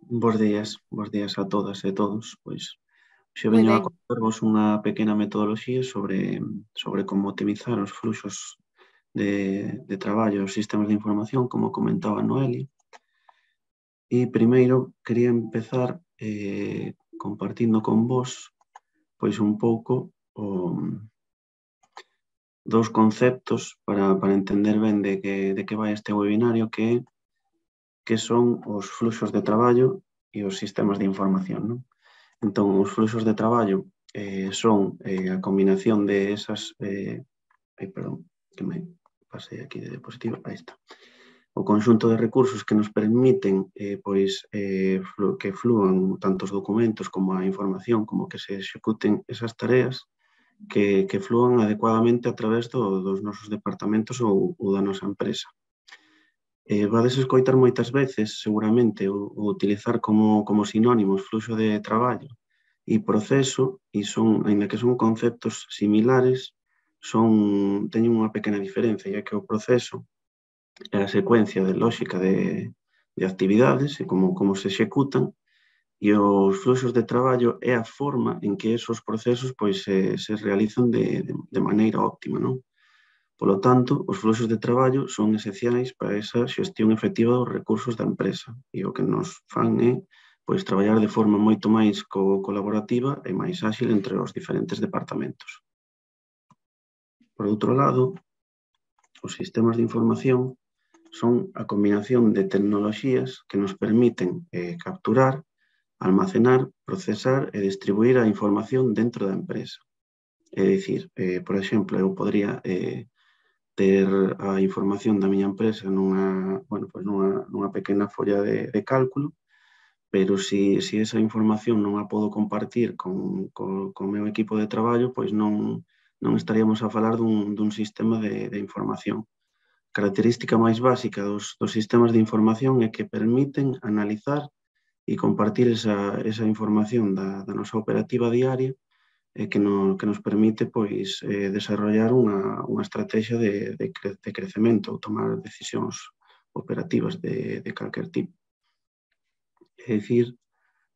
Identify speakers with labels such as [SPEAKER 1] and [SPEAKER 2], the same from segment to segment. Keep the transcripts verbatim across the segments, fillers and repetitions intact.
[SPEAKER 1] Bos días, bos días a todas e todos. Pois xe
[SPEAKER 2] Moi
[SPEAKER 1] veño a
[SPEAKER 2] ben.
[SPEAKER 1] contarvos unha pequena metodoloxía sobre, sobre como optimizar os fluxos de, de traballo e os sistemas de información, como comentaba Noeli. E primeiro quería empezar eh, compartindo con vos pois un pouco o, dous conceptos para, para entender ben de que, de que vai este webinario, que é que son os fluxos de traballo e os sistemas de información, non? Entón, os fluxos de traballo eh, son eh, a combinación de esas... Eh, ai, perdón, que me pasei aquí de diapositiva, aí está. O conxunto de recursos que nos permiten eh, pois, eh, flu, que fluan tanto os documentos como a información, como que se executen esas tareas, que, que fluan adecuadamente a través do, dos nosos departamentos ou, ou da nosa empresa. Eh, vades escoitar moitas veces, seguramente, o, o utilizar como, como sinónimos fluxo de traballo e proceso, e son, ainda que son conceptos similares, son, teñen unha pequena diferencia, ya que o proceso é a secuencia de lógica de, de actividades e como, como se executan, e os fluxos de traballo é a forma en que esos procesos pois, se, se realizan de, de, de maneira óptima, non? Polo tanto, os fluxos de traballo son esenciais para esa xestión efectiva dos recursos da empresa e o que nos fan é pois, traballar de forma moito máis co colaborativa e máis áxil entre os diferentes departamentos. Por outro lado, os sistemas de información son a combinación de tecnoloxías que nos permiten eh, capturar, almacenar, procesar e distribuir a información dentro da empresa. É dicir, eh, por exemplo, eu podría eh, ter a información da miña empresa nunha, bueno, pues nunha, nunha pequena folla de, de cálculo, pero si, si esa información non a podo compartir con, con, con o meu equipo de traballo, pois non, non estaríamos a falar dun, dun sistema de, de información. A característica máis básica dos, dos sistemas de información é que permiten analizar e compartir esa, esa información da, da nosa operativa diaria e que, no, que nos permite pois, eh, desarrollar unha, unha estrategia de, de, cre, de crecemento ou tomar decisións operativas de, de calquer tipo. É dicir,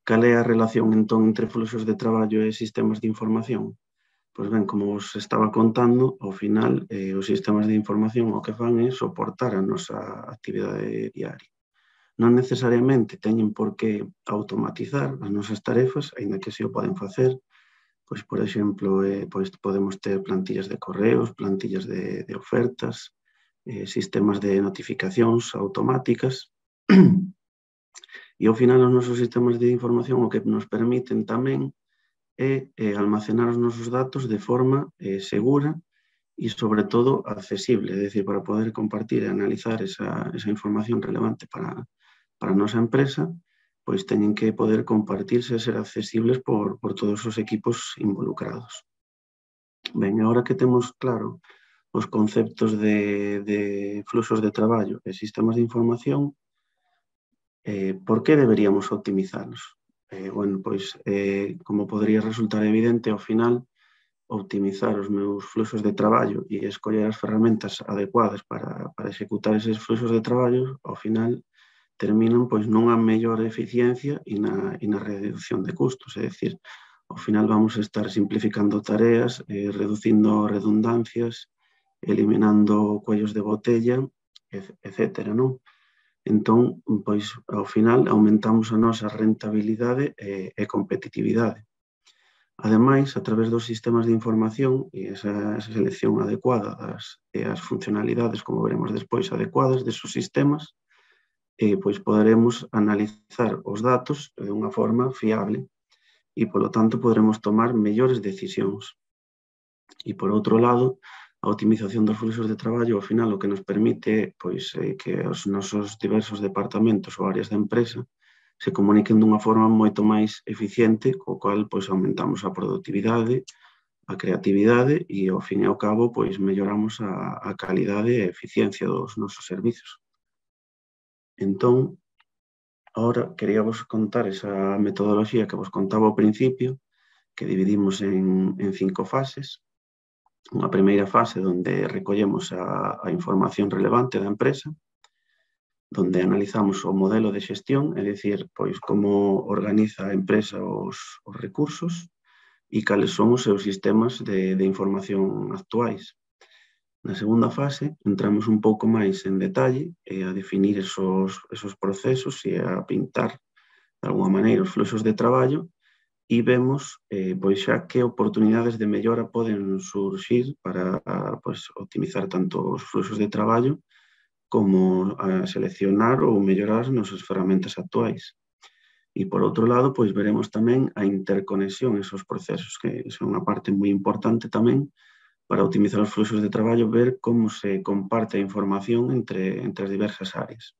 [SPEAKER 1] cal é a relación entón entre fluxos de traballo e sistemas de información? Pois ben, como vos estaba contando, ao final eh, os sistemas de información o que fan é soportar a nosa actividade diaria. Non necesariamente teñen por que automatizar as nosas tarefas, aínda que se o poden facer. Pois, por exemplo, eh, pois podemos ter plantillas de correos, plantillas de, de ofertas, eh, sistemas de notificacións automáticas. E ao final os nosos sistemas de información o que nos permiten tamén é eh, almacenar os nosos datos de forma eh, segura e, sobre todo, accesible, é dicir, para poder compartir e analizar esa, esa información relevante para, para a nosa empresa, pois teñen que poder compartirse e ser accesibles por, por todos os equipos involucrados. Ben, agora que temos claro os conceptos de, de fluxos de traballo e sistemas de información, eh, por que deberíamos optimizalos? Eh, bueno, pois, eh, como podría resultar evidente, ao final, optimizar os meus fluxos de traballo e escoller as ferramentas adecuadas para, para executar eses fluxos de traballo, ao final, terminan pois nunha mellor eficiencia e na, e na reducción de custos, é dicir, ao final vamos a estar simplificando tareas, eh, reducindo redundancias, eliminando cuellos de botella, etcétera, non? Entón, pois, ao final, aumentamos a nosa rentabilidade e, e competitividade. Ademais, a través dos sistemas de información e esa, esa selección adecuada das, e as funcionalidades, como veremos despois, adecuadas desos sistemas, eh, pois poderemos analizar os datos de unha forma fiable e, polo tanto, poderemos tomar mellores decisións. E, por outro lado, a optimización dos fluxos de traballo, ao final, o que nos permite é pois, eh, que os nosos diversos departamentos ou áreas da empresa se comuniquen dunha forma moito máis eficiente, co cual pois, aumentamos a productividade, a creatividade e, ao fin e ao cabo, pois, melloramos a, a calidade e a eficiencia dos nosos servizos. Entón, agora quería vos contar esa metodoloxía que vos contaba ao principio, que dividimos en, en cinco fases. Unha primeira fase onde recollemos a, a información relevante da empresa, donde analizamos o modelo de xestión, é dicir, pois como organiza a empresa os, os recursos e cales son os seus sistemas de, de información actuais. Na segunda fase, entramos un pouco máis en detalle e a definir esos, esos procesos e a pintar, de alguma maneira, os fluxos de traballo e vemos eh, pois xa que oportunidades de mellora poden surxir para pois, optimizar tanto os fluxos de traballo como a seleccionar ou mellorar as nosas ferramentas actuais. E, por outro lado, pois veremos tamén a interconexión esos procesos, que son unha parte moi importante tamén para optimizar os fluxos de traballo, ver como se comparte a información entre, entre as diversas áreas.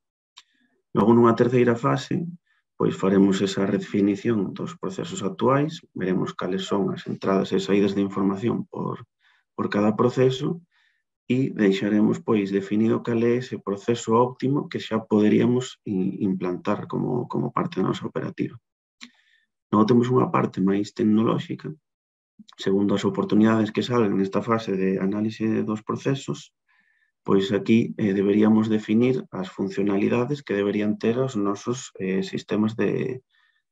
[SPEAKER 1] Logo, nunha terceira fase, pois faremos esa redefinición dos procesos actuais, veremos cales son as entradas e saídas de información por, por cada proceso e deixaremos pois definido cal é ese proceso óptimo que xa poderíamos implantar como, como parte da nosa operativa. Logo temos unha parte máis tecnolóxica, segundo as oportunidades que salgan nesta fase de análise dos procesos, pois aquí eh, deberíamos definir as funcionalidades que deberían ter os nosos eh, sistemas de,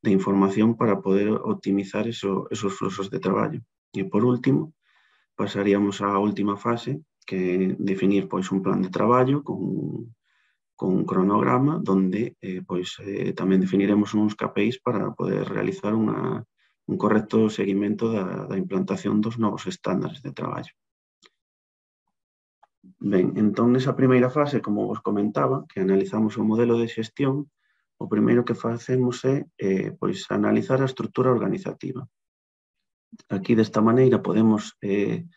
[SPEAKER 1] de información para poder optimizar eso, esos fluxos de traballo. E por último, pasaríamos á última fase, que definir pois un plan de traballo con, con un cronograma donde eh, pois, eh, tamén definiremos uns K P Is para poder realizar unha, un correcto seguimento da, da implantación dos novos estándares de traballo. Ben, entón, nesa primeira fase, como vos comentaba, que analizamos o modelo de xestión, o primeiro que facemos é eh, pois, analizar a estrutura organizativa. Aquí, desta maneira, podemos eh,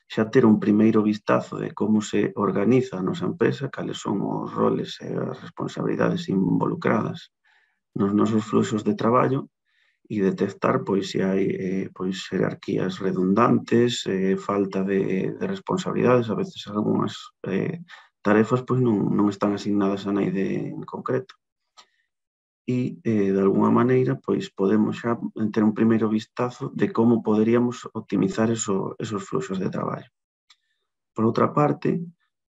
[SPEAKER 1] xa ter un primeiro vistazo de como se organiza a nosa empresa, cales son os roles e as responsabilidades involucradas nos nosos fluxos de traballo e detectar pois, se hai eh, pois, jerarquías redundantes, eh, falta de, de responsabilidades, a veces algunhas eh, tarefas pois, non, non están asignadas a naide en concreto. E, eh, de alguna maneira, pois podemos xa ter un primeiro vistazo de como poderíamos optimizar eso, esos fluxos de traballo. Por outra parte,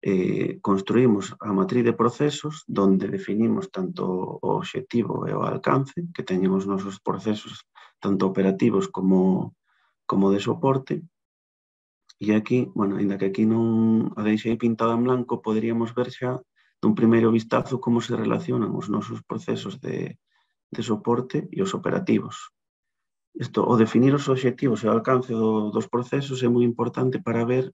[SPEAKER 1] eh, construímos a matriz de procesos donde definimos tanto o obxectivo e o alcance que teñen os nosos procesos tanto operativos como, como de soporte. E aquí, bueno, ainda que aquí non a deixei pintada en blanco, poderíamos ver xa dun primeiro vistazo como se relacionan os nosos procesos de, de soporte e os operativos. Isto, o definir os obxectivos e o alcance do, dos procesos é moi importante para ver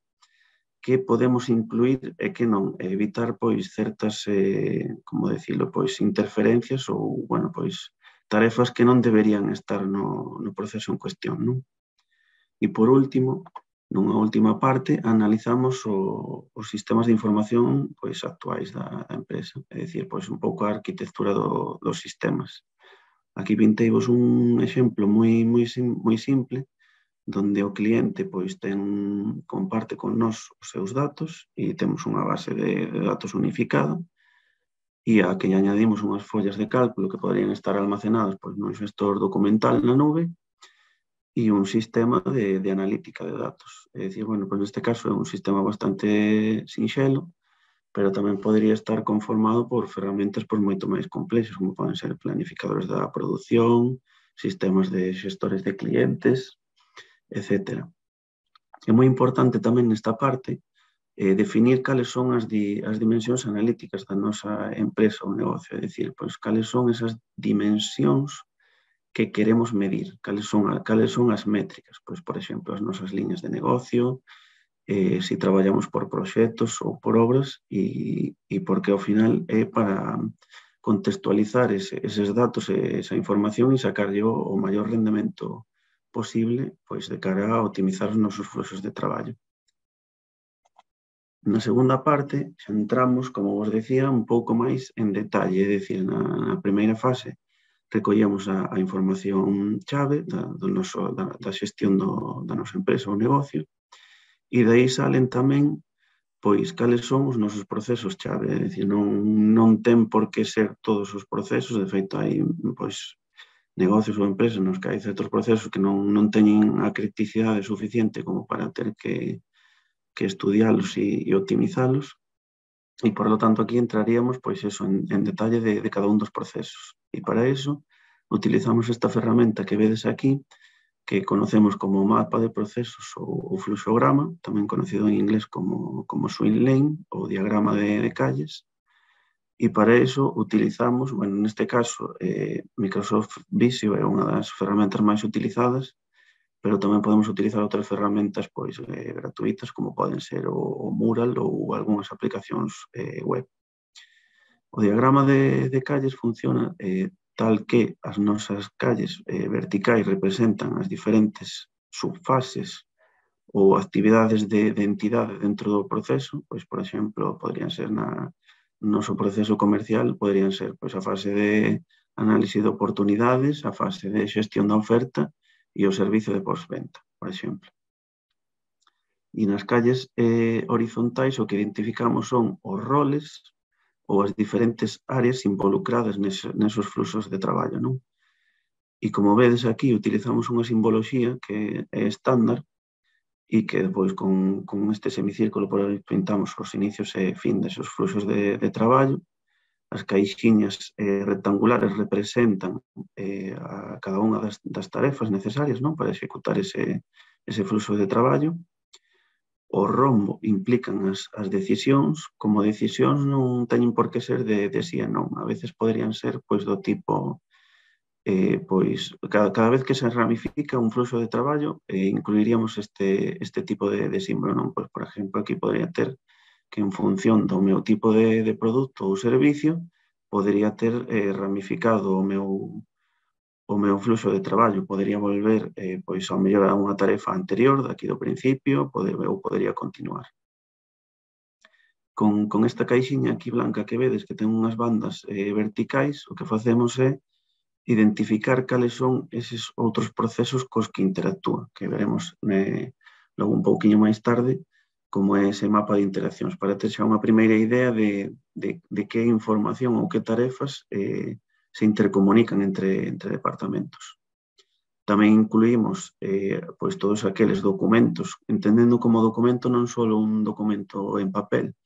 [SPEAKER 1] que podemos incluir e que non, evitar pois certas, eh, como decirlo, pois interferencias ou, bueno, pois tarefas que non deberían estar no, no proceso en cuestión, non? E por último, nunha última parte, analizamos o, os sistemas de información pois, actuais da, da empresa, é dicir, pois, un pouco a arquitectura do, dos sistemas. Aquí pinteivos un exemplo moi, moi, moi simple, donde o cliente pois, ten, comparte con nós os seus datos e temos unha base de, de datos unificada e a que añadimos unhas follas de cálculo que poderían estar almacenadas pois, nun xestor documental na nube e un sistema de, de analítica de datos. É dicir, bueno, pois neste caso é un sistema bastante sinxelo, pero tamén podría estar conformado por ferramentas pois, moito máis complexas, como poden ser planificadores da produción, sistemas de xestores de clientes, etcétera. É moi importante tamén nesta parte eh, definir cales son as, di, as dimensións analíticas da nosa empresa ou negocio, é dicir, pois, cales son esas dimensións que queremos medir, cales son, cales son as métricas, pois, por exemplo, as nosas liñas de negocio, eh, se traballamos por proxectos ou por obras e, e porque ao final é para contextualizar ese, eses datos e esa información e sacarlle o, o maior rendemento posible pois, de cara a optimizar os nosos fluxos de traballo. Na segunda parte, xa entramos, como vos decía, un pouco máis en detalle, é dicir, na, na primeira fase, recollemos a, a información chave da, do noso, da, da xestión do, da nosa empresa ou negocio e de aí salen tamén pois cales son os nosos procesos chave, é dicir, non, non ten por que ser todos os procesos, de feito hai pois, negocios ou empresas nos que hai certos procesos que non, non teñen a criticidade suficiente como para ter que, que estudialos e, e optimizalos E, por lo tanto, aquí entraríamos pois, eso, en, en detalle de, de cada un dos procesos. E para iso, utilizamos esta ferramenta que vedes aquí, que conocemos como mapa de procesos ou, ou fluxograma, tamén conocido en inglés como, como swim lane ou diagrama de, de calles. E para iso utilizamos, bueno, neste caso, eh, Microsoft Visio é unha das ferramentas máis utilizadas, pero tamén podemos utilizar outras ferramentas pois, eh, gratuitas, como poden ser o, o Mural ou algunhas aplicacións eh, web. O diagrama de, de calles funciona eh, tal que as nosas calles eh, verticais representan as diferentes subfases ou actividades de, de entidade dentro do proceso, pois, por exemplo, podrían ser na noso proceso comercial, podrían ser pois, a fase de análise de oportunidades, a fase de xestión da oferta e o servicio de postventa, por exemplo. E nas calles eh, horizontais o que identificamos son os roles ou as diferentes áreas involucradas nes, nesos fluxos de traballo, non? E como vedes aquí, utilizamos unha simboloxía que é estándar e que depois con, con este semicírculo por aí pintamos os inicios e fin desos fluxos de, de traballo. As caixiñas eh, rectangulares representan eh, a cada unha das, das tarefas necesarias, non, para executar ese, ese fluxo de traballo. O rombo implican as, as decisións, como decisións non teñen por que ser de, de sí e non, a veces poderían ser pois do tipo, eh, pois cada, cada vez que se ramifica un fluxo de traballo, eh, incluiríamos este, este tipo de, de símbolo, non? Pois, por exemplo, aquí podría ter que en función do meu tipo de, de produto ou servicio, podería ter eh, ramificado o meu, o meu fluxo de traballo, podería volver eh, pois ao mellor a unha tarefa anterior, daqui do principio, pode, ou podería continuar. Con, con esta caixiña aquí blanca que vedes que ten unhas bandas eh, verticais, o que facemos é identificar cales son eses outros procesos cos que interactúa, que veremos eh, logo un pouquiño máis tarde, como é ese mapa de interaccións, para ter xa unha primeira idea de, de, de que información ou que tarefas eh, se intercomunican entre, entre departamentos. Tamén incluímos eh, pois todos aqueles documentos, entendendo como documento non só un documento en papel,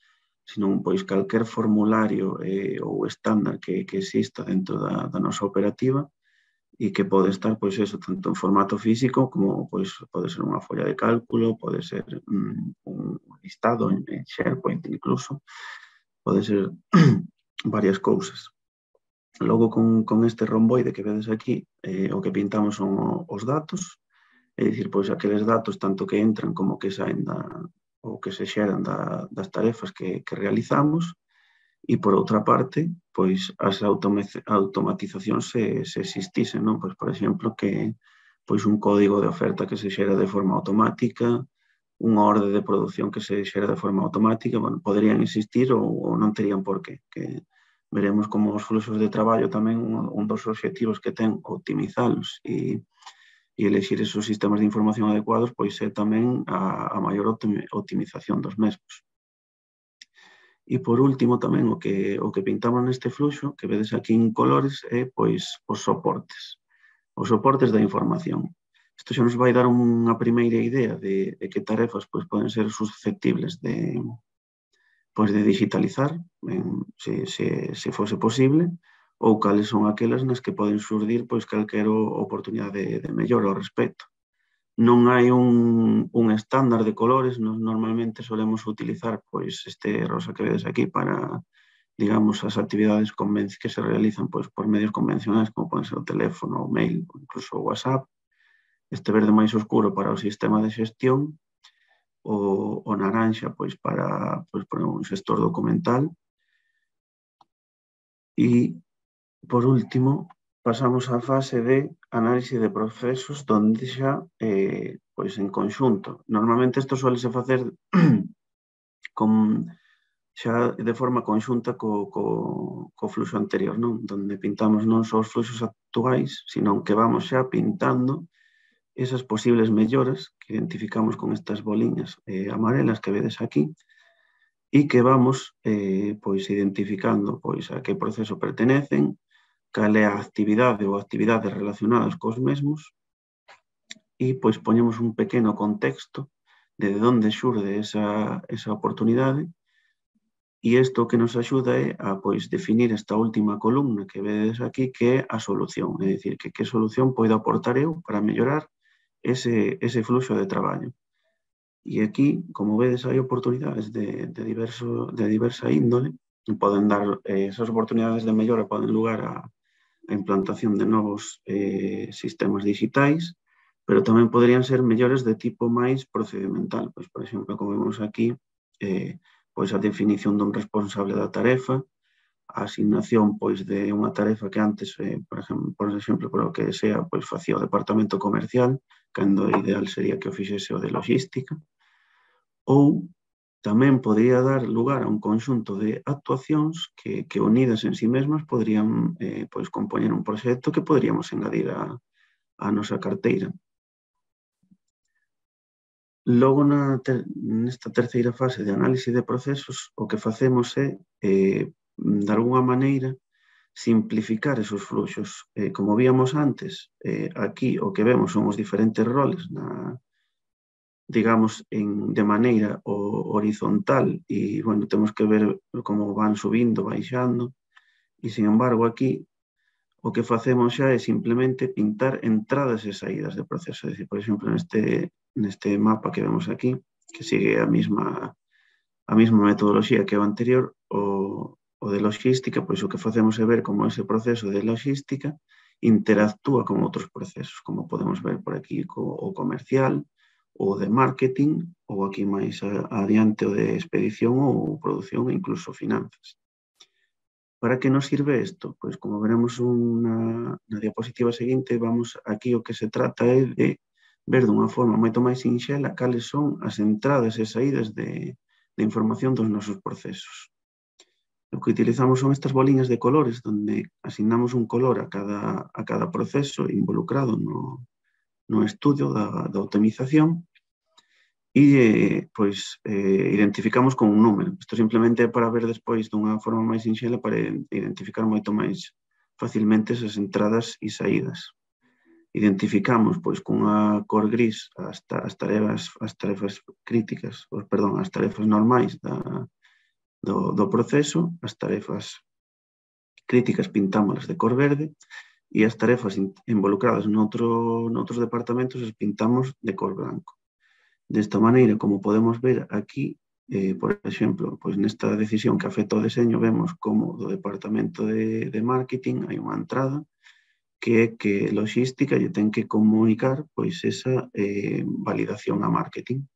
[SPEAKER 1] sino pois calquer formulario eh, ou estándar que, que exista dentro da, da nosa operativa e que pode estar, pois, eso, tanto en formato físico como, pois, pode ser unha folla de cálculo, pode ser mm, un listado en, en SharePoint incluso, pode ser varias cousas. Logo, con, con este romboide que vedes aquí, eh, o que pintamos son o, os datos, é dicir, pois, aqueles datos tanto que entran como que saen da, ou que se xeran da, das tarefas que, que realizamos. E, por outra parte, pois as automatizacións se, se existisen, non? Pois, por exemplo, que pois un código de oferta que se xera de forma automática, unha orde de produción que se xera de forma automática, bueno, poderían existir ou, ou non terían por qué. Que veremos como os fluxos de traballo tamén un, un dos obxectivos que ten optimizalos e, e elexir esos sistemas de información adecuados, pois é tamén a, a maior optimización dos mesmos. E, por último, tamén o que, o que pintamos neste fluxo, que vedes aquí en colores, é pois, os soportes. Os soportes da información. Isto xa nos vai dar unha primeira idea de, de que tarefas pois, poden ser susceptibles de, pois, de digitalizar, en, se, se, se fose posible, ou cales son aquelas nas que poden xurdir pois, calquera oportunidade de, de mellora ao respecto. Non hai un, un estándar de colores, nos normalmente solemos utilizar pois, este rosa que vedes aquí para, digamos, as actividades que se realizan pois, por medios convencionais, como poden ser o teléfono, o mail, ou incluso o WhatsApp. Este verde máis oscuro para o sistema de xestión, o, o naranxa pois, para, pois, para un xestor documental. E, por último, pasamos á fase de análise de procesos donde xa, eh, pois en conxunto. Normalmente isto suele se facer con, xa de forma conxunta co, co, co fluxo anterior, non? Donde pintamos non só os fluxos actuais, sino que vamos xa pintando esas posibles melloras que identificamos con estas boliñas eh, amarelas que vedes aquí e que vamos eh, pois identificando pois a que proceso pertenecen, cal é a actividade ou actividades relacionadas cos mesmos e pois poñemos un pequeno contexto de onde xurde esa, esa oportunidade E isto que nos axuda é a pois, definir esta última columna que vedes aquí, que é a solución. É dicir, que que solución podo aportar eu para mellorar ese, ese fluxo de traballo. E aquí, como vedes, hai oportunidades de, de, diverso, de diversa índole. Poden dar, eh, esas oportunidades de mellora poden lugar a, a implantación de novos eh, sistemas digitais, pero tamén poderían ser mellores de tipo máis procedimental. Pois, por exemplo, como vemos aquí, eh, pois a definición dun responsable da tarefa, a asignación pois, de unha tarefa que antes, eh, por exemplo, por exemplo, por o que sea, pois facía o departamento comercial, cando o ideal sería que o fixese o de logística, ou tamén podría dar lugar a un conxunto de actuacións que, que unidas en sí mesmas poderían eh, pois, compoñer un proxecto que poderíamos engadir a, a nosa carteira. Logo, na ter, nesta terceira fase de análise de procesos, o que facemos é, eh, de alguma maneira, simplificar esos fluxos. Eh, como víamos antes, eh, aquí o que vemos son os diferentes roles na, digamos, en, de maneira o, horizontal e, bueno, temos que ver como van subindo, baixando, e, sin embargo, aquí o que facemos xa é simplemente pintar entradas e saídas de proceso. É dicir, por exemplo, neste, neste mapa que vemos aquí, que sigue a mesma, a mesma metodoloxía que o anterior, o, o de logística, pois o que facemos é ver como ese proceso de logística interactúa con outros procesos, como podemos ver por aquí co, o comercial, o de marketing, ou aquí máis adiante o de expedición ou produción e incluso finanzas. Para que nos sirve isto? Pois como veremos unha, na diapositiva seguinte, vamos aquí o que se trata é de ver dunha forma moito máis sinxela cales son as entradas e saídas de, de información dos nosos procesos. O que utilizamos son estas boliñas de colores, donde asignamos un color a cada, a cada proceso involucrado no, no estudio da, da optimización e pois, eh, identificamos con un número. Isto simplemente é para ver despois dunha forma máis sinxela para identificar moito máis facilmente esas entradas e saídas. Identificamos pois cunha cor gris as, as, tarefas, as tarefas críticas, os, perdón, as tarefas normais da, do, do proceso, as tarefas críticas pintámolas de cor verde e as tarefas involucradas noutro, noutros departamentos as pintamos de cor branco. Desta maneira, como podemos ver aquí, eh, por exemplo, pois nesta decisión que afecta ao deseño, vemos como do departamento de, de marketing hai unha entrada que é que logística lle ten que comunicar pois esa eh, validación a marketing.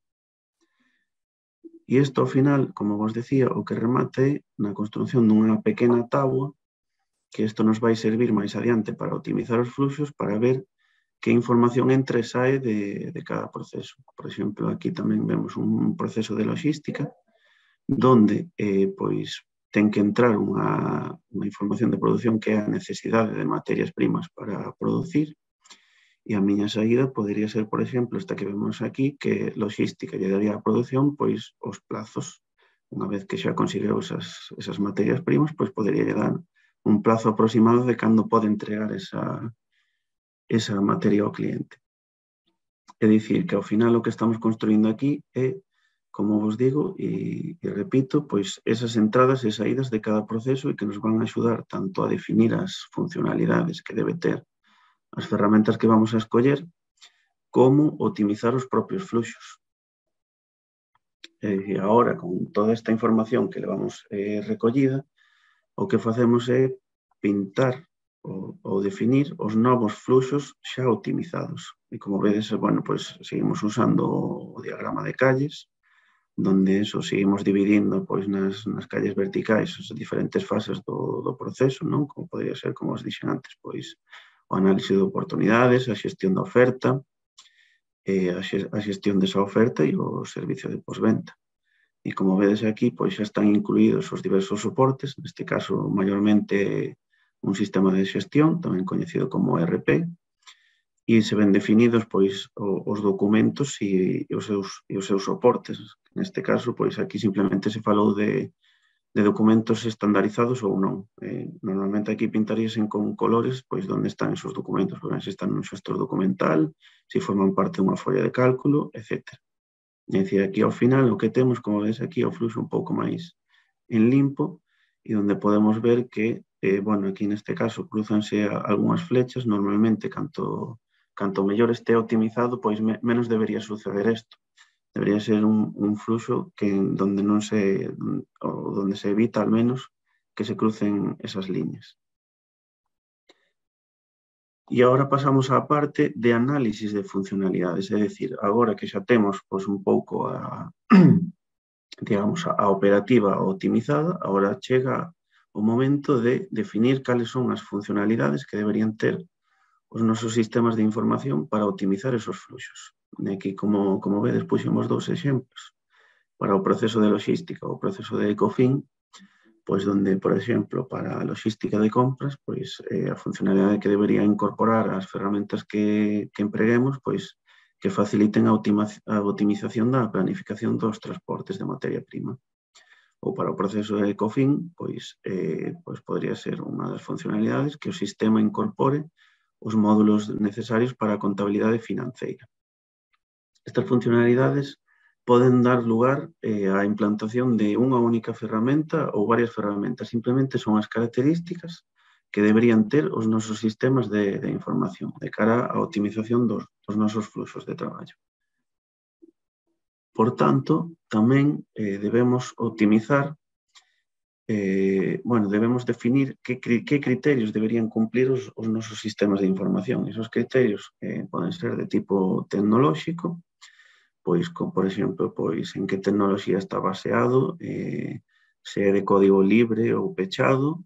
[SPEAKER 1] E isto, ao final, como vos decía, o que remata é na construción dunha pequena tábua, que isto nos vai servir máis adiante para optimizar os fluxos, para ver que información entra e sae de, de cada proceso. Por exemplo, aquí tamén vemos un proceso de logística donde eh, pois, ten que entrar unha, unha información de produción que é a necesidade de materias primas para producir e a miña saída podería ser, por exemplo, esta que vemos aquí, que logística lle daría a produción pois, os plazos. Unha vez que xa conseguiu esas, esas materias primas, pois podería lle dar un plazo aproximado de cando pode entregar esa esa materia ao cliente. É dicir, que ao final o que estamos construindo aquí é, como vos digo, e, e repito, pois esas entradas e saídas de cada proceso e que nos van a axudar tanto a definir as funcionalidades que debe ter as ferramentas que vamos a escoller, como optimizar os propios fluxos. É dicir, agora, con toda esta información que levamos eh, recollida, o que facemos é pintar ou, ou definir os novos fluxos xa optimizados. E como vedes, bueno, pues, seguimos usando o diagrama de calles, donde eso seguimos dividindo pois, nas, nas calles verticais as diferentes fases do, do proceso, non? Como podría ser, como os dixen antes, pois, o análise de oportunidades, a xestión da oferta, eh, a, a xestión desa oferta e o servicio de postventa. E como vedes aquí, pois xa están incluídos os diversos soportes, neste caso, maiormente un sistema de xestión, tamén coñecido como E R P, e se ven definidos pois, os documentos e os seus, e os seus soportes. Neste caso, pois aquí simplemente se falou de, de documentos estandarizados ou non. Eh, normalmente aquí pintaríase con colores pois onde están esos documentos, porque se están nun xestor documental, se forman parte dunha folla de cálculo, etcétera. É dicir, aquí ao final o que temos, como ves aquí, o fluxo un pouco máis en limpo e onde podemos ver que, eh, bueno, aquí neste caso cruzanse algunhas flechas, normalmente canto, canto mellor este optimizado, pois me, menos debería suceder isto. Debería ser un, un fluxo que donde non se, ou donde se evita al menos que se crucen esas líneas. E agora pasamos á parte de análisis de funcionalidades, é dicir, agora que xa temos pois, un pouco a, digamos, a operativa optimizada, agora chega o momento de definir cales son as funcionalidades que deberían ter os nosos sistemas de información para optimizar esos fluxos. Aquí, como, como vedes, puxemos dous exemplos. Para o proceso de logística, o proceso de Ecofin, pois donde, por exemplo, para a logística de compras, pois eh, a funcionalidade que debería incorporar as ferramentas que, que empreguemos, pois que faciliten a, a optimización da planificación dos transportes de materia prima. Ou para o proceso de Ecofin, pois, eh, pois podría ser unha das funcionalidades que o sistema incorpore os módulos necesarios para a contabilidade financeira. Estas funcionalidades poden dar lugar eh, á implantación de unha única ferramenta ou varias ferramentas. Simplemente son as características que deberían ter os nosos sistemas de, de información de cara á optimización dos, dos nosos fluxos de traballo. Por tanto, tamén eh, debemos optimizar, eh, bueno, debemos definir que, que criterios deberían cumplir os, os nosos sistemas de información. Esos criterios eh, poden ser de tipo tecnolóxico, pois, como, por exemplo, pois, en que tecnoloxía está baseado, eh, se é de código libre ou pechado,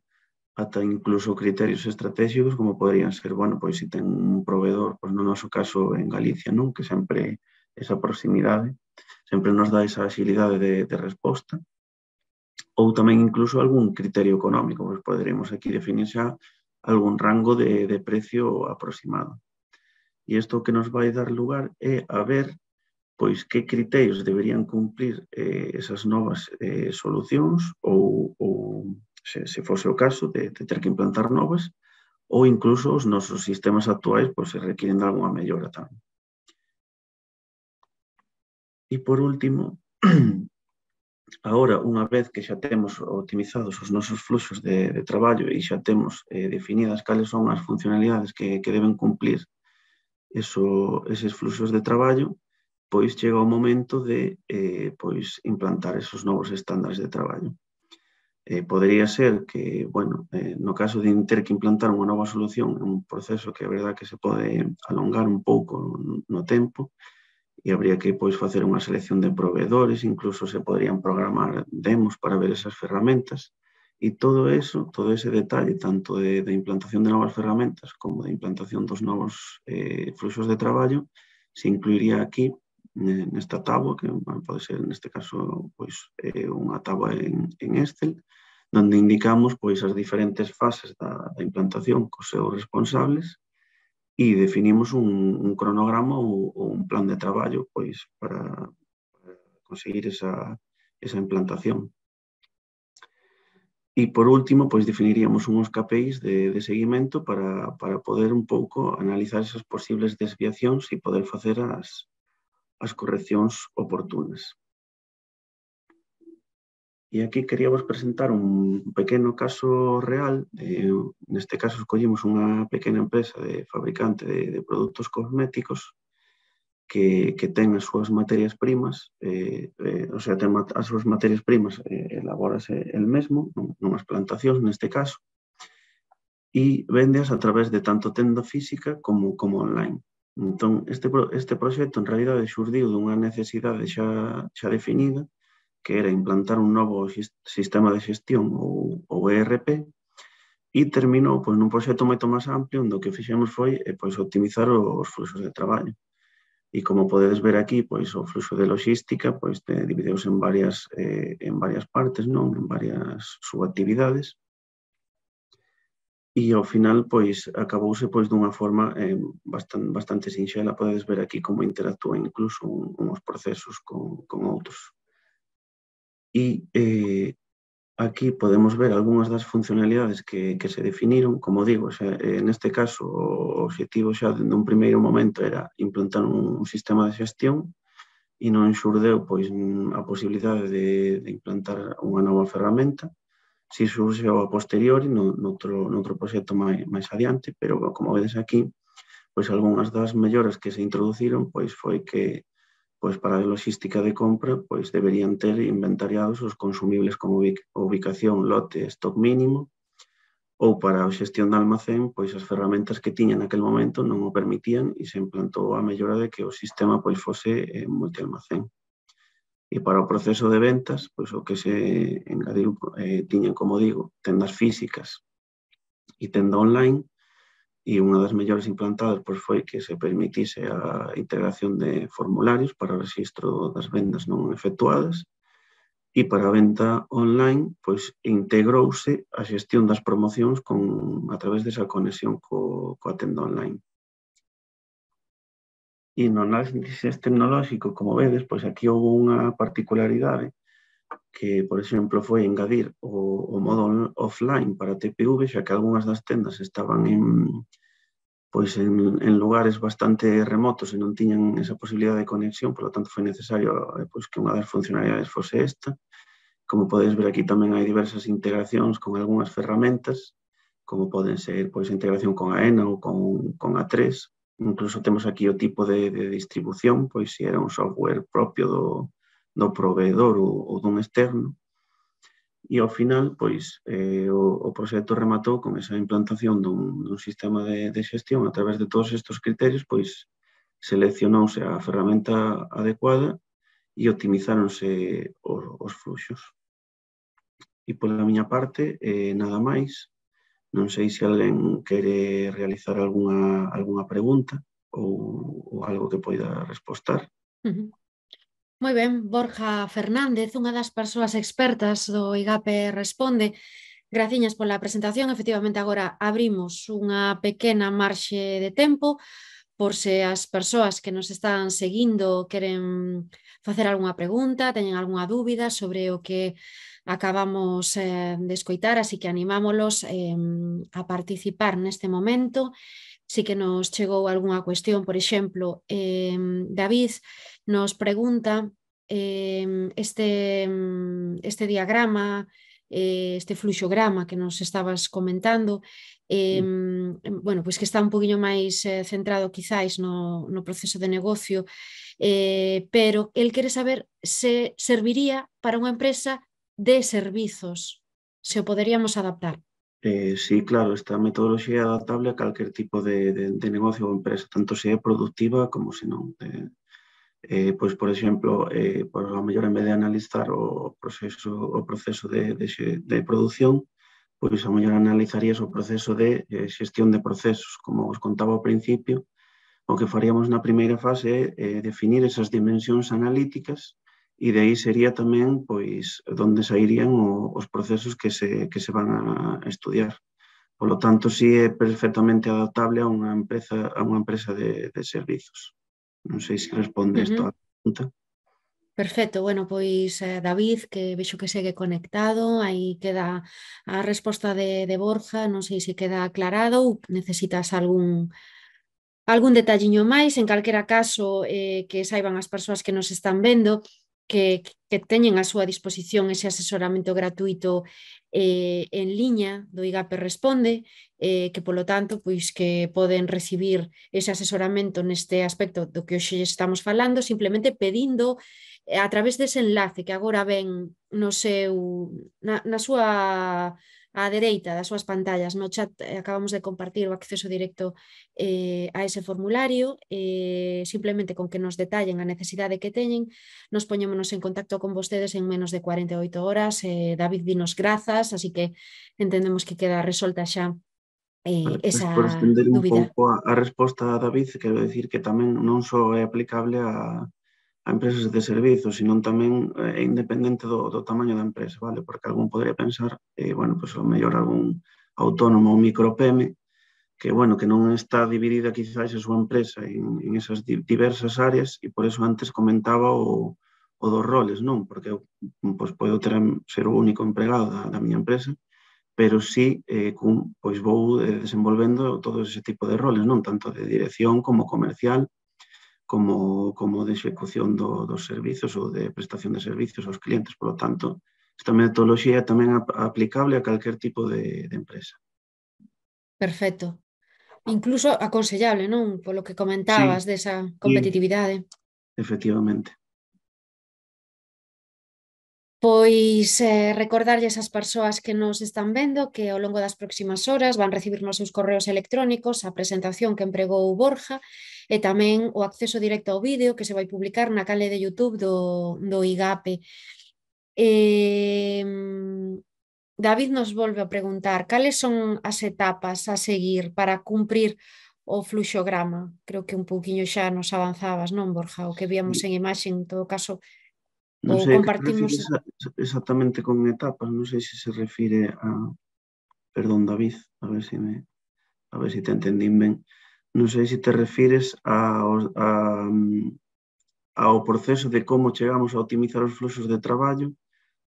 [SPEAKER 1] ata incluso criterios estratégicos, como poderían ser, bueno, pois, se ten un proveedor, pois, no noso caso en Galicia, non? Que sempre esa proximidade, sempre nos dá esa axilidade de, de resposta, ou tamén incluso algún criterio económico, pois poderíamos aquí definir xa algún rango de, de precio aproximado. E isto que nos vai dar lugar é a ver pois que criterios deberían cumplir eh, esas novas eh, solucións ou, ou se, se fose o caso de, de ter que implantar novas ou incluso os nosos sistemas actuais pois, se requieren de alguma mellora tamén. E por último, agora, unha vez que xa temos optimizados os nosos fluxos de, de traballo e xa temos eh, definidas cales son as funcionalidades que, que deben cumplir eso, eses fluxos de traballo, pois chega o momento de eh, pois, implantar esos novos estándares de traballo. Eh, podería ser que, bueno, eh, no caso de ter que implantar unha nova solución, é un proceso que é verdad que se pode alongar un pouco no, no tempo, e habría que pois, facer unha selección de proveedores, incluso se poderían programar demos para ver esas ferramentas, e todo eso, todo ese detalle, tanto de, de implantación de novas ferramentas como de implantación dos novos eh, fluxos de traballo, se incluiría aquí nesta táboa, que bueno, pode ser neste caso pois, eh, unha táboa en, en Excel, donde indicamos pois, as diferentes fases da, da implantación cos seus responsables e definimos un, un cronograma ou, ou un plan de traballo pois, para, para conseguir esa, esa implantación. E, por último, pois, definiríamos uns K P Is de, de seguimento para, para poder un pouco analizar esas posibles desviacións e poder facer as, as correccións oportunas. E aquí queríamos presentar un pequeno caso real. Eh, neste caso, escollimos unha pequena empresa de fabricante de, de produtos cosméticos que, que ten as súas materias primas, eh, eh, o sea, ten as súas materias primas, eh, elabórase el mesmo, nunhas plantacións neste caso, e véndeas a través de tanto tenda física como, como online. Entón, este, este proxecto en realidade xurdiu dunha necesidade xa, xa definida, que era implantar un novo sistema de xestión ou, ou E R P, e terminou pois, nun proxecto moito máis amplio, onde o que fixemos foi eh, pois, optimizar os fluxos de traballo. E como podedes ver aquí, pois, o fluxo de logística pois, divideuse en varias, eh, en varias partes, non? En varias subactividades, e ao final pois, acabouse pois, dunha forma eh, bastante, bastante sinxela. Podedes ver aquí como interactúan incluso un, uns procesos con, con outros. E eh, aquí podemos ver algunhas das funcionalidades que, que se definiron. Como digo, xa, eh, neste caso o objetivo xa dun primeiro momento era implantar un, un sistema de xestión e non xurdeu pois, a posibilidade de, de implantar unha nova ferramenta. Si surxeu a posteriori no, noutro, noutro proxecto máis, máis adiante, pero como vedes aquí, pois algunhas das melloras que se introduciron pois foi que pois para a logística de compra pois deberían ter inventariados os consumibles como ubicación, lote, stock mínimo, ou para a xestión de almacén, pois as ferramentas que tiña naquel momento non o permitían e se implantou a mellora de que o sistema pois fose eh, multialmacén. E para o proceso de ventas, pois o que se engadiu eh, tiñan, como digo, tendas físicas e tenda online, e unha das mellores implantadas pois, foi que se permitise a integración de formularios para o registro das vendas non efectuadas, e para a venta online pois, integrouse a xestión das promocións con, a través desa conexión co, coa tenda online. E no análisis tecnolóxico, como vedes, pois aquí houve unha particularidade que, por exemplo, foi engadir o, o modo offline para T P V, xa que algunhas das tendas estaban en, pois en, en lugares bastante remotos e non tiñan esa posibilidade de conexión, por lo tanto foi necesario pois, que unha das funcionalidades fose esta. Como podes ver aquí tamén hai diversas integracións con algunhas ferramentas, como poden ser pois, a integración con A E N A ou con, con A tres. Incluso temos aquí o tipo de, de distribución, pois se era un software propio do, do proveedor ou, ou dun externo. E ao final, pois, eh, o, o proxecto rematou con esa implantación dun, dun sistema de, de xestión a través de todos estes criterios, pois seleccionouse a ferramenta adecuada e optimizáronse os, os fluxos. E pola miña parte, eh, nada máis. Non sei se alguén quere realizar algunha, algunha pregunta ou, ou algo que poida respostar.
[SPEAKER 2] Uh-huh. Moi ben, Borja Fernández, unha das persoas expertas do I G A P Responde. Graciñas pola presentación. Efectivamente, agora abrimos unha pequena marxe de tempo por se as persoas que nos están seguindo queren facer algunha pregunta, teñen algunha dúbida sobre o que acabamos eh, de escoitar, así que animámolos eh, a participar neste momento. Si que nos chegou algunha cuestión, por exemplo, eh, David nos pregunta eh, este, este diagrama, eh, este fluxograma que nos estabas comentando, eh, bueno, pois que está un poquinho máis eh, centrado quizáis no, no proceso de negocio, eh, pero el quere saber se serviría para unha empresa de servizos, se o poderíamos adaptar.
[SPEAKER 1] Eh, sí, claro, esta metodoloxía é adaptable a calquer tipo de, de, de negocio ou empresa, tanto se é productiva como se non. Eh, eh, pois, por exemplo, eh, por a mellor en vez de analizar o proceso, o proceso de, de, de produción, pois a mellor analizarías o proceso de eh, xestión de procesos. Como os contaba ao principio, o que faríamos na primeira fase é eh, definir esas dimensións analíticas e de aí sería tamén pois onde sairían o, os procesos que se, que se van a estudiar. Por lo tanto, sí é perfectamente adaptable a unha empresa, a unha empresa de, de servizos. Non sei se responde
[SPEAKER 2] Uh-huh.
[SPEAKER 1] esta pregunta.
[SPEAKER 2] Perfecto, bueno, pois eh, David, que vexo que segue conectado, aí queda a resposta de, de Borja, non sei se queda aclarado ou necesitas algún algún detalliño máis. En calquera caso, eh, que saiban as persoas que nos están vendo que, que teñen a súa disposición ese asesoramento gratuito eh, en liña do I G A P Responde, eh, que polo tanto pois que poden recibir ese asesoramento neste aspecto do que hoxe estamos falando, simplemente pedindo eh, a través dese enlace que agora ven no seu, na, na súa á dereita das súas pantallas, no chat eh, acabamos de compartir o acceso directo eh, a ese formulario, eh, simplemente con que nos detallen a necesidade que teñen, nos poñémonos en contacto con vostedes en menos de cuarenta e oito horas. eh, David dinos grazas, así que entendemos que queda resolta xa eh,
[SPEAKER 1] Pues por
[SPEAKER 2] esa
[SPEAKER 1] estender un
[SPEAKER 2] dúbida.
[SPEAKER 1] pouco a, a resposta a David, quero decir que tamén non só é aplicable a a empresas de servizos, sino tamén é eh, independente do, do tamaño da empresa, vale? Porque algún podría pensar, eh, bueno, pues, o mellor algún autónomo ou micropeme, que, bueno, que non está dividida quizás a súa empresa en, en esas diversas áreas e por eso antes comentaba o, o dos roles, non? Porque eu pues, podo ter, ser o único empregado da, da miña empresa, pero sí, eh, cun, pois vou eh, desenvolvendo todo ese tipo de roles, non? Tanto de dirección como comercial, como, como de execución do, dos servizos ou de prestación de servizos aos clientes. Por lo tanto, esta metodoloxía é tamén aplicable a calquer tipo de, de empresa.
[SPEAKER 2] Perfecto. Incluso aconsellable, non? Polo que
[SPEAKER 1] Sí,
[SPEAKER 2] comentabas desa
[SPEAKER 1] sí,
[SPEAKER 2] competitividade.
[SPEAKER 1] efectivamente.
[SPEAKER 2] Pois eh, recordarlles ás persoas que nos están vendo que ao longo das próximas horas van recibir nos seus correos electrónicos a presentación que empregou Borja e tamén o acceso directo ao vídeo que se vai publicar na canle de YouTube do, do IGAPE. Eh, David nos volve a preguntar cales son as etapas a seguir para cumprir o fluxograma. Creo que un pouquiño xa nos avanzabas, non, Borja? O que víamos en imaxe, en todo caso,
[SPEAKER 1] Non
[SPEAKER 2] ou
[SPEAKER 1] sei a que te
[SPEAKER 2] compartimos...
[SPEAKER 1] refires exactamente con etapas, non sei se se refire a... Perdón, David, a ver se me... a ver se te entendín ben. Non sei se te refires a, a, ao proceso de como chegamos a optimizar os fluxos de traballo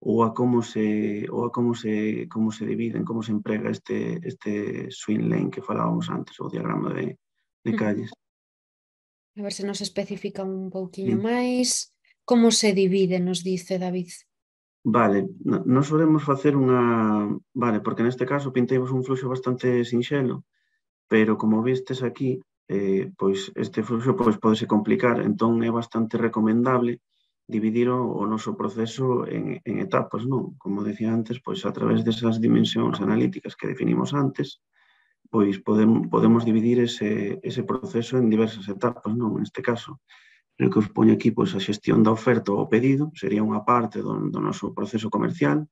[SPEAKER 1] ou a como se ou a como se como se dividen, como se emprega este este swim lane que falábamos antes, o diagrama de, de calles.
[SPEAKER 2] A ver se nos especifica un pouquiño
[SPEAKER 1] Sí.
[SPEAKER 2] máis. Como se divide, nos dice David?
[SPEAKER 1] Vale, nós solemos facer unha... Vale, porque neste caso pinteimos un fluxo bastante sinxelo, pero como vistes aquí, eh, pois este fluxo pois, podese complicar, entón é bastante recomendable dividir o, o noso proceso en, en etapas, non? Como decía antes, pois a través desas dimensións analíticas que definimos antes, pois podemos, podemos dividir ese, ese proceso en diversas etapas, non? Neste caso, creo que os poño aquí pois, a xestión da oferta ou pedido, sería unha parte do, do noso proceso comercial.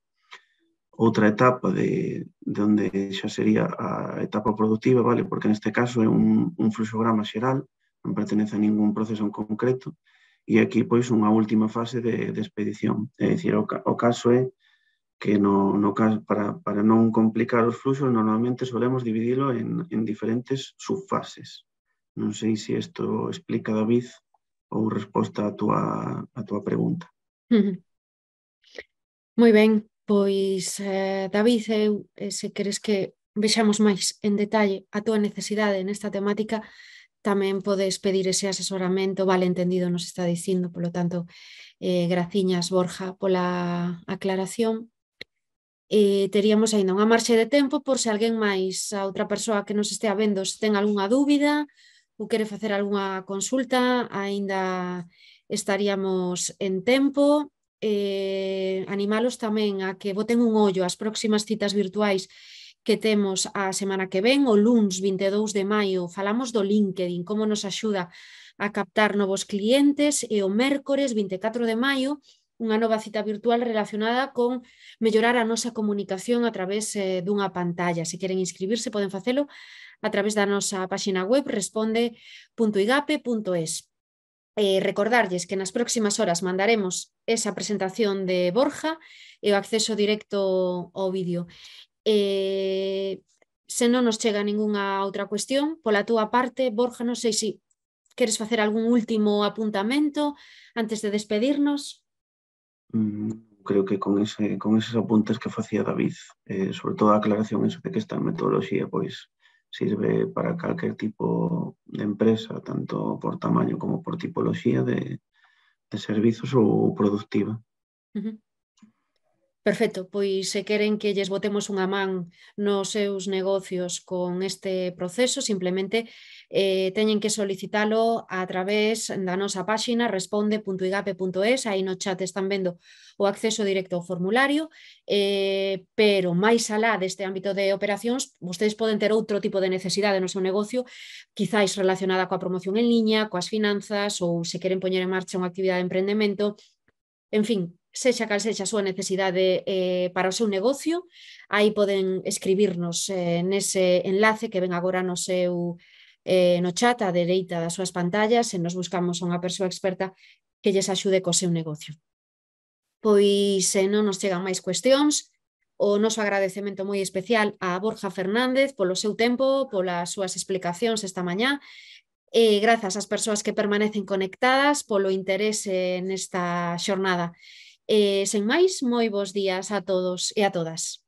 [SPEAKER 1] Outra etapa de, de onde xa sería a etapa productiva, vale? Porque neste caso é un, un fluxograma xeral, non pertenece a ningún proceso en concreto, e aquí pois unha última fase de, de expedición. É dicir, o, o caso é que no, no caso, para, para non complicar os fluxos, normalmente solemos dividilo en, en diferentes subfases. Non sei se isto explica, David, ou resposta a túa, a túa pregunta.
[SPEAKER 2] Moi ben, pois eh, David, eu, eh, se queres que vexamos máis en detalle a túa necesidade nesta temática, tamén podes pedir ese asesoramento, vale entendido nos está dicindo, polo tanto, eh, graciñas Borja pola aclaración. Eh, teríamos aínda unha marxe de tempo por se alguén máis, a outra persoa que nos estea vendo, se ten algunha dúbida ou quere facer algunha consulta, aínda estaríamos en tempo. Eh, animalos tamén a que boten un ollo ás próximas citas virtuais que temos a semana que ven, o luns vinte e dous de maio falamos do LinkedIn, como nos axuda a captar novos clientes, e o mércores vinte e catro de maio unha nova cita virtual relacionada con mellorar a nosa comunicación a través eh, dunha pantalla. Se queren inscribirse poden facelo a través da nosa páxina web responde punto igape punto es. Eh, recordarlles que nas próximas horas mandaremos esa presentación de Borja e o acceso directo ao vídeo. Eh, se non nos chega ningunha outra cuestión, pola túa parte, Borja, non sei se queres facer algún último apuntamento antes de despedirnos.
[SPEAKER 1] Mm, creo que con, ese, con esos apuntes que facía David, eh, sobre todo a aclaración eso de que esta metodoloxía pois sirve para calquer tipo de empresa, tanto por tamaño como por tipoloxía de, de servizos ou productiva.
[SPEAKER 2] Uh-huh. Perfecto, pois se queren que lles botemos unha man nos seus negocios con este proceso, simplemente eh, teñen que solicitalo a través da nosa páxina responde punto igape punto es, aí no chat están vendo o acceso directo ao formulario, eh, pero máis alá deste ámbito de operacións, vostedes poden ter outro tipo de necesidade no seu negocio, quizáis relacionada coa promoción en liña, coas finanzas, ou se queren poñer en marcha unha actividade de emprendemento, en fin, sexa cal sexa a súa necesidade eh, para o seu negocio, aí poden escribirnos eh, nese enlace que ven agora no seu eh, no chat á dereita das súas pantallas e nos buscamos unha persoa experta que lles axude co seu negocio. Pois se non nos chegan máis cuestións, o noso agradecemento moi especial a Borja Fernández polo seu tempo, polas súas explicacións esta mañá, e grazas ás persoas que permanecen conectadas polo interese nesta xornada. E sen máis, moi bons días a todos e a todas.